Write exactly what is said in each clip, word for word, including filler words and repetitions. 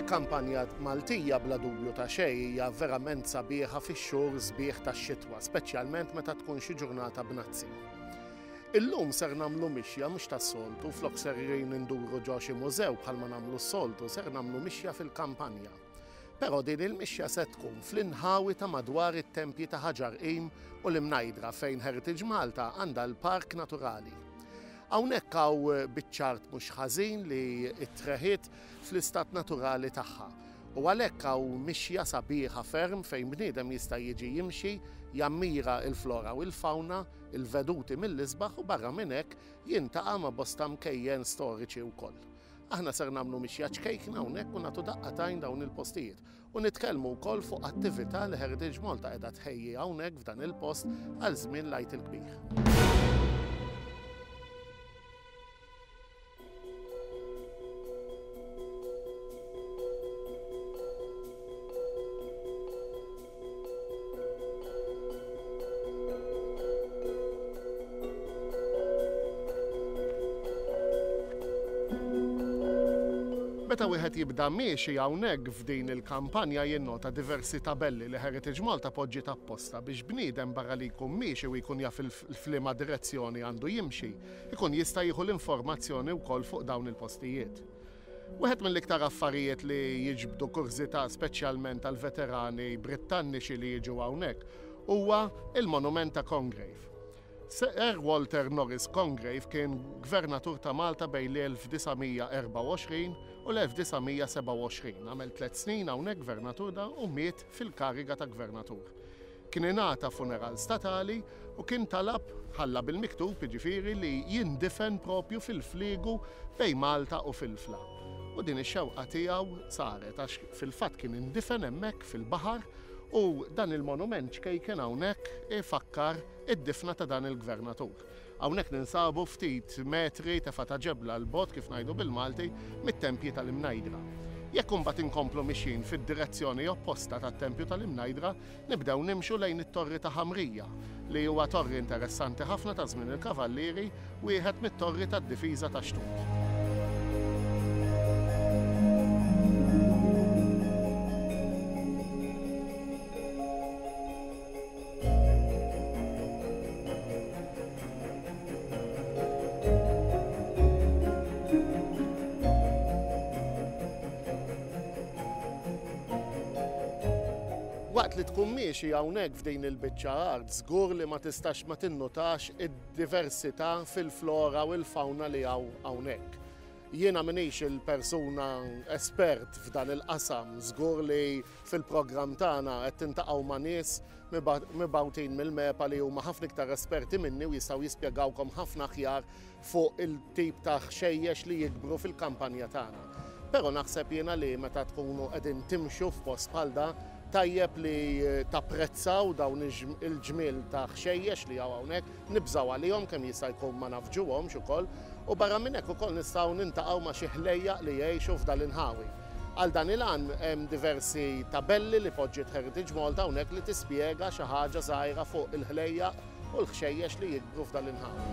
Il-kampanja Maltija bla dubju ta' xejn hija verament sabiħa fix-xhur sbieħ tax-xitwa, speċjalment meta tkun xi ġurnata bnazzi. Illum ser nagħmlu mixja mhux tas-soltu, flok serrin induru ġo xi mużew bħalma nagħmlu s-soltu, ser nagħmlu mixja fil-kampanja. Però din il-mixja se tkun fl-inħawi ta' madwar it-tempji ta' Ħaġar Qim u l-Imnajdra fejn Heritage Malta għandha l-Park Naturali. Hawnhekk hawn biċċa art mhux ħażin li ttreħiet fl-istat naturali tagħha. U għalhekk hawn mixja sabiħa ferm fejn bniedem jista' jiġi jimxi, jammira il-flora u l-fawna, il-veduti mill-isbaħ u barra minn hekk jiltaqa' ma' bosta mkejjen storiċi wkoll. Aħna ser nagħmlu mixja ċkejkna hawnhekk u nagħtu daqqa t'għajn dawn il-postijiet. U nitkellmu wkoll fuq attività li Heritage Malta qiegħda tħejji hawnhekk f'dan il-post għal żmien l-Għid il-Kbir. Meta wieħed jibda miexi hawnhekk f'din il-kampanja jinnota diversi tabelli li Heritage Malta poġġiet apposta biex bniedem barra li jkun miexi u jkun jaf f'liema direzzjoni għandu jimxi, ikun jista' jieħu l-informazzjoni wkoll fuq dawn il-postijiet. Wieħed mill-iktar affarijiet li jiġbdu kurżità speċjalment għal veterani Brittanniċi li jiġu hawnhekk huwa il-monument ta' Congreve. Sir Walter Norris Congreve kien gvernatur ta' Malta bejn l-elf disa' mija erbgħa u għoxrin u l-elf disa' mija sebgħa u għoxrin. Għamel tliet snin hawnhekk gvernatur da u miet fil-kariga ta' gvernatur. Kien ingħata funeral statali u kien talab ħalla bil-miktub jiġifieri li jindifen propju fil-fliegu bejn Malta u Filfla. U din ix-xewqa tiegħu saret għax fil-fatt kien indifen hemmhekk fil-baħar u dan il-monument ċkejken hawnhekk ifakkar id-difna ta' dan il-gvernatur. Hawnhekk ninsabu ftit metri tefa' ta' ġebla l-bot kif ngħidu bil-Malti mit-tempji tal-Imnajdra. Jekk imbagħad inkomplu mixjin fid-direzzjoni opposta tat-tempju tal-Imnajdra, nibdew nimxu lejn it-Torri ta' Ħamrija, li huwa torri interessanti ħafna ta' żmien il-Kavallieri, wieħed mit-torri tad-difiża ta' Xtut. Waqt li tkun miexi hawnhekk f'din il-biċċa art, żgur li ma tistax ma tinnutax id-diversità fil-flora u l-fawna li hawn hawnhekk. Jiena m'iniex il-persuna espert f'dan il-qasam, żgur li fil-programm tagħna qed tintaqgħu ma' nies mibgħutin mill-MEPA li huma ħafna iktar esperti minni u jistgħu jispjegawkom ħafna aħjar fuq il-tip ta' ħxejjex li jikbru fil-kampanja tagħna. Però naħseb jiena li meta tkunu qegħdin timxu f'post bħal da, tajjeb li tapprezzaw dawn il-ġmiel ta' ħxejjex li hawn hawnhekk, nibżgħu għalihom kemm jista' jkun ma nafġuhomx ukoll, u barra minn hekk ukoll nistgħu nintaqgħu ma' xi ħlejjaq li jgħixu f'dan l-inħawi. Għal dan il-għan hemm diversi tabelli li poġġiet Heritage Malta hawnhekk li tispjega xi ħaġa żgħira fuq il-ħlejjaq u l-ħxejjex li jikbru f'dan l-inħawi.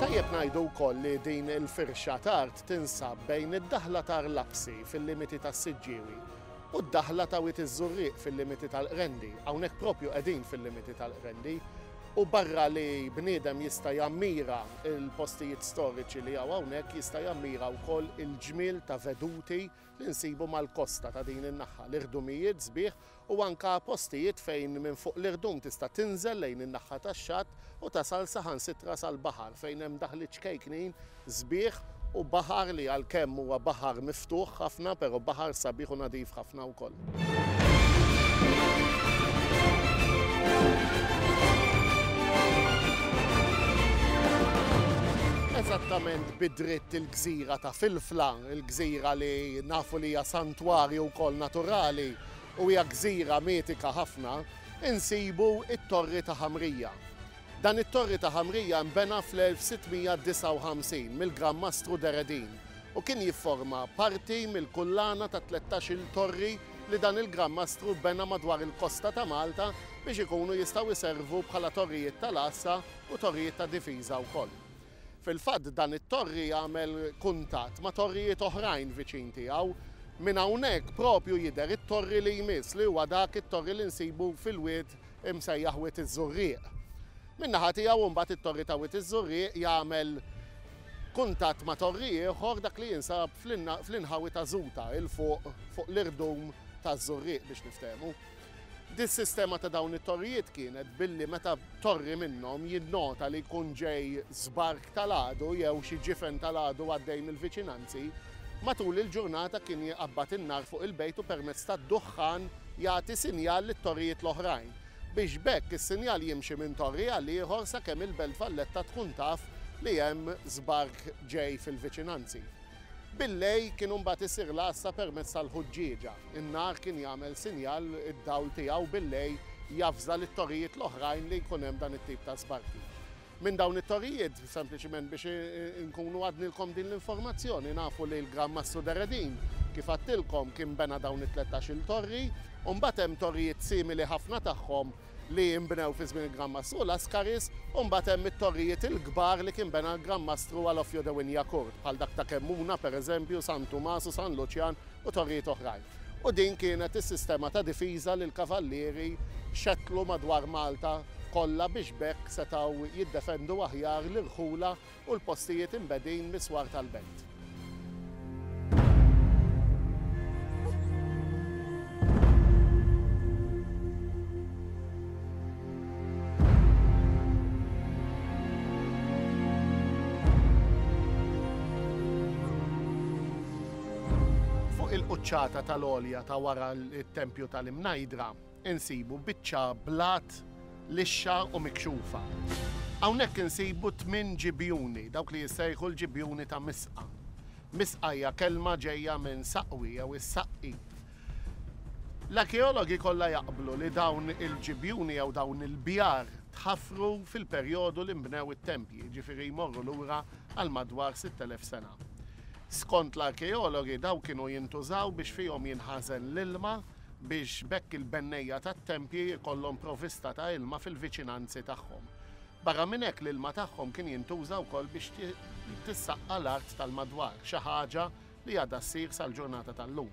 Tajjeb ngħidu wkoll li din il-firxa t'art tinsab bejn id-daħla ta' Lapsi fil-limiti tas-Siġġiewi u d-daħla ta' Wied iż-Żurrieq fil-limiti tal-Qrendi. Hawnhekk propju qegħdin fil-limiti tal-Qrendi u barra li bniedem jista' jammira il-postijiet storiċi li hawn hawnhekk, jista' jammira wkoll il-ġmiel ta' veduti li nsibu mal-kosta ta' din in-naħa, l-irdumijiet sbieħ u anka postijiet fejn minn fuq l-irdum tista' tinżel lejn in-naħa tax-xatt u tasal saħansitra sal-baħar fejn hemm daħliet ċkejknin sbieħ u baħar li għalkemm huwa baħar miftuħ ħafna, però baħar sabiħ u nadif ħafna wkoll. Eżattament bidritt il-gżira ta' Filfla, il-gżira li nafu li hija santwarju wkoll naturali u hija gżira mitika ħafna, insibu it-Torri ta' Ħamrija. Dan it-Torri ta' Ħamrija nbena fl-elf sitt mija disgħa u ħamsin mill-Gran Mastru Deredin u kien jifforma parti mill-kullana ta' tlettax-il torri li dan il-Gran Mastru bena madwar il-kosta ta' Malta biex ikunu jistgħu jservu bħala torrijiet tal-għassa u torrijiet ta' difiża wkoll. Fil-fatt, dan it-torri jagħmel kuntatt ma' torrijiet oħrajn viċin tiegħu. Minn hawnhekk propju jidher it-torri li jmiss, li huwa dak it-torri li nsibu fil-wied imsejjaħ Wied iż-Żurrieq. Min-naħa tiegħu mbagħad, it-torri ta' Wied iż-Żurrieq jagħmel kuntatt ma' torri ieħor, dak li jinsab fl-inħawi ta' Żuta, 'il fuq fuq l-irdum ta' Żurrieq biex niftehmu. Dis-sistema ta' dawn it-torrijiet kienet billi meta torri minnhom jinnota li jkun ġej żbark tal-għadu jew xi ġifen tal-għadu għaddej mill-viċinanzi, matul il-ġurnata kien jqabbad in-nar fuq il-bejt u permezz tad-duħħan jagħti sinjal lit-torrijiet l-oħrajn, biex b'hekk is-sinjal jimxi minn torri għal ieħor sakemm il-Belt Valletta tkun taf li hemm żbark ġej fil-viċinanzi. Billejl kienu mbagħad isir l-għassa permezz tal-ħuġġieġa. In-nar kien jagħmel sinjal, id-dawl tiegħu billejl javża lit-torrijiet l-oħrajn li jkun hemm dan it-tip ta' żbarki. Minn dawn it-torrijiet, sempliċiment biex nkunu għadnilkom din l-informazzjoni, nafu li l-Gran Mastru Deredin, kif għedtilkom, kien bena dawn it-tlettax-il torri, u mbagħad hemm torrijiet simili ħafna tagħhom li jinbnew fi żmien il-Gran Mastru Lascaris, u mbagħad hemm it-torrijiet il-kbar li kien bena l-Gran Mastru Alofio de Wignacourt, bħal dak ta' Kemmuna, pereżempju, San Tumas u San Luċjan u torrijiet oħrajn. U din kienet is-sistema ta' difiża li l-kavallieri xetlu madwar Malta kollha biex b'hekk setgħu jiddefendu aħjar l-irħula u l-postijiet imbegħdin mis-swar tal-belt. Fuq il-quċċata tal-għolja ta' wara l-tempju tal-Imnajdra insibu biċċa blat lixxa u mikxufa. Hawnhekk insibu tmien ġibjuni, dawk li jissejħu l-ġibjuni ta' Misqa. Misqa hija kelma ġejja minn saqwi jew is-saqqi. L-arkeologi kollha jaqblu li dawn il-ġibjuni jew dawn il-bjar tħaffru fil-perjodu li nbnew it-tempji, ġifieri jmorru lura għal madwar sitt elef sena. Skont l-arkeologi, daw kienu jintużaw biex fihom jinħażen l-ilma, biex b'hekk il-bennejja tat-tempji jkollhom provista ta' ilma fil-viċinanzi tagħhom. Barra minn hekk, l-ilma tagħhom kien jintuża wkoll biex tissaqqa l-art tal-madwar, xi ħaġa li għadha ssir sal-ġurnata tal-lum.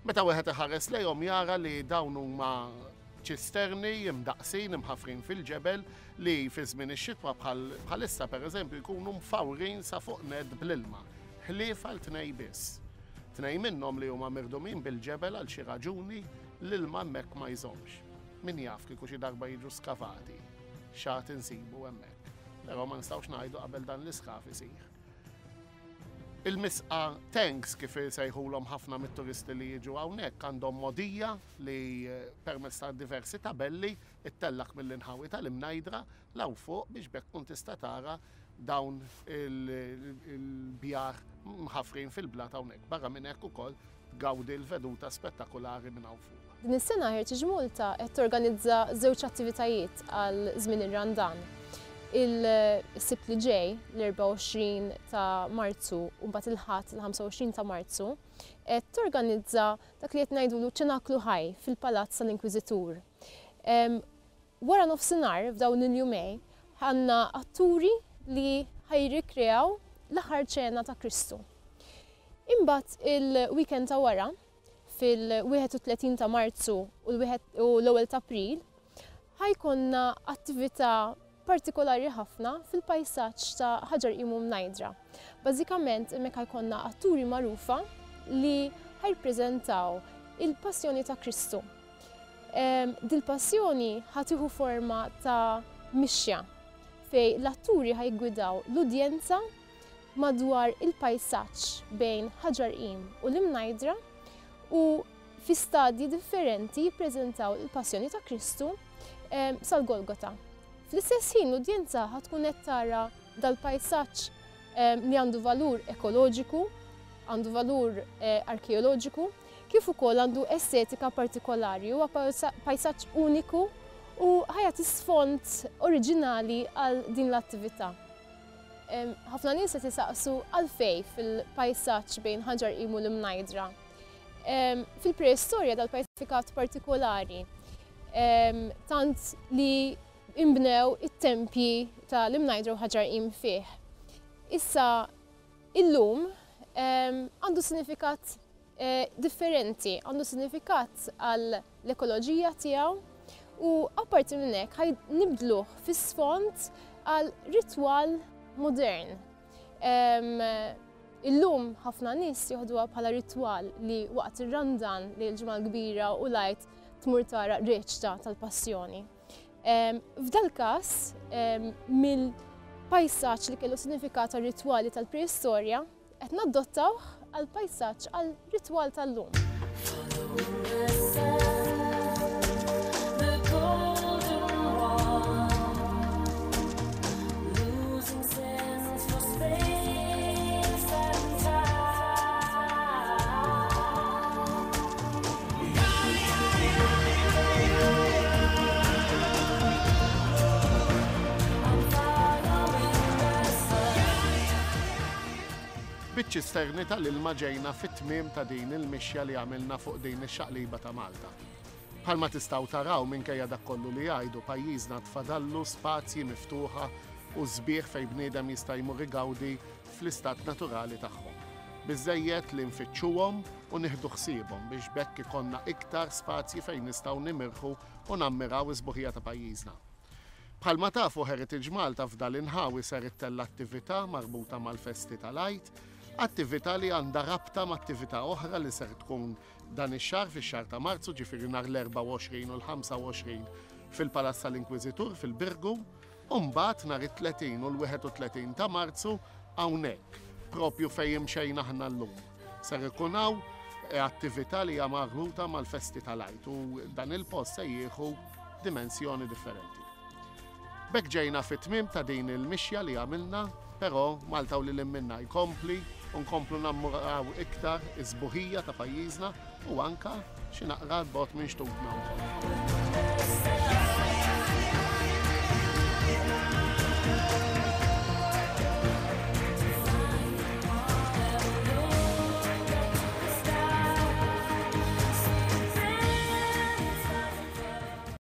Meta wieħed iħares lejhom jara li dawn huma ċisterni imdaqsin imħafrin fil-ġebel li fi żmien ix-xitwa, bħalissa pereżempju, jkunu mfawrin sa fuq nett bl-ilma, ħlief għal tnej biss. Tnej minnhom li huma mirdumin bil-ġebel, għal xi raġuni l-ilma hemmhekk ma jżommx. Min jaf, kieku xi darba jiġu skavati, x'għad insibu hemmhekk. Però ma nistgħux ngħidu qabel dan l-iskav isir. Il-Misqa Tanks, kif sejħulhom ħafna mit-turisti li jiġu hawnhekk, għandhom mogħdija li permezz ta' diversi tabelli ittellak mill-inħawi tal-Imnajdra 'l hawn fuq biex b'hekk tkun tista' tara dawn il-bjar mħafrin fil-blat hawnhekk. Barra minn hekk ukoll tgawdi l-veduta spettakolari minn hawn fuq. Din is-sena Heritage Malta qed torganizza żewġ attivitajiet għal żmien ir-Randan. Il-Sibt li ġej, l-erbgħa u għoxrin ta' Marzu, u mbagħad il-Ħadd il-ħamsa u għoxrin ta' Marzu, qed torganizza dak li qed ngħidulu ċenaklu ħaj fil-Palazz tal-Inkwiżitur. Wara nofsinhar f'dawn il-jumej għandna atturi li ħa jirrikreaw l-aħħar ċena ta' Kristu. Imbagħad il-weekend ta' wara, fil-wieħed u tletin ta' Marzu u l-ewwel ta' April, ħa jkollna attività partikolari ħafna fil-pajsaġġ ta' Ħaġar Qim u Mnajdra. Bażikament hemmhekk ħa jkollna atturi magħrufa li ħa jippreżentaw il-passjoni ta' Kristu. Dil-passjoni ħa tieħu forma ta' mixja fejn l-atturi ħa jiggwidaw l-udjenza madwar il-pajsaġġ bejn Ħaġar Qim u l-Imnajdra u fi stadji differenti jippreżentaw il-passjoni ta' Kristu sal-Golgota. Fl-istess ħin l-udjenza ħa tkun qed tara dal-pajsaġġ li għandu valur ekoloġiku, għandu valur eh, arkeoloġiku, kif ukoll għandu estetika partikolari, huwa pajsaġġ uniku u ħa jagħti sfond oriġinali għal din l-attività. Ħafna nies qed jisaqsu għalfejn fil-pajsaġġ bejn Ħaġar Qim u l-Imnajdra. Fil-preistorja dal-pajsaġġ partikolari, tant li imbnew it-tempji tal-Imnajdra u Ħaġar Qim fih. Issa illum għandu sinifikat differenti, għandu sinifikat għal l-ekoloġija tiegħu u apparti minn hekk ħa nibdluh fis-sfond għal ritwal modern. Illum ħafna nies joħduha bħala ritwal li waqt ir-Randan li l-Ġimgħa l-Kbira u l-Għid tmur tara reċta tal-Passjoni. F'dal każ, mill-pajsaġġ li kellu sinifikat ritwali tal-preistorja, qed nadottawh għal pajsaġġ għal ritwal tal-lum. The golden one, losing sense for space and time. I'm following the sun. Biċ-ċisterni tal-ilma ġejna fit-tmiem ta' din il-mixja li għamilna fuq din ix-xaqliba ta' Malta. Bħalma tistgħu taraw, minkejja dak kollu li jgħidu, pajjiżna tfadallu spazji miftuħa u sbieħ fejn bniedem jista' jmur igawdi fl-istat naturali tagħhom. Biżejjed li nfittxuhom u nieħdu ħsiebhom biex b'hekk ikollna iktar spazji fejn nistgħu nimirħu u nammiraw is-sbuħija ta' pajjiżna. Bħalma tafu, Heritage Malta f'dal inħawi ser ittella attività marbuta mal-festi tal-Għid, attività li għandha rabta ma' attività oħra li ser tkun dan ix-xahar, fix-xahar ta' Marzu, ġifieri nhar l-erbgħa u għoxrin u l-ħamsa u għoxrin fil-Palazz tal-Inkwiżitur fil-Birgu, u mbagħad nhar it-tletin u l-wieħed u tletin ta' Marzu hawnhekk, propju fejn imxejna aħna llum. Ser ikun hawn attività li hija marbuta mal-festi tal-Għid u dan il-post se jieħu dimensjoni differenti. B'hekk ġejna fit-tmiem ta' din il-mixja li għamilna, però Malta u lil minna jkompli u nkomplu nammuraw iktar is-sbuħija ta' pajjiżna u anka xi naqra bogħod minn xtutna wkoll.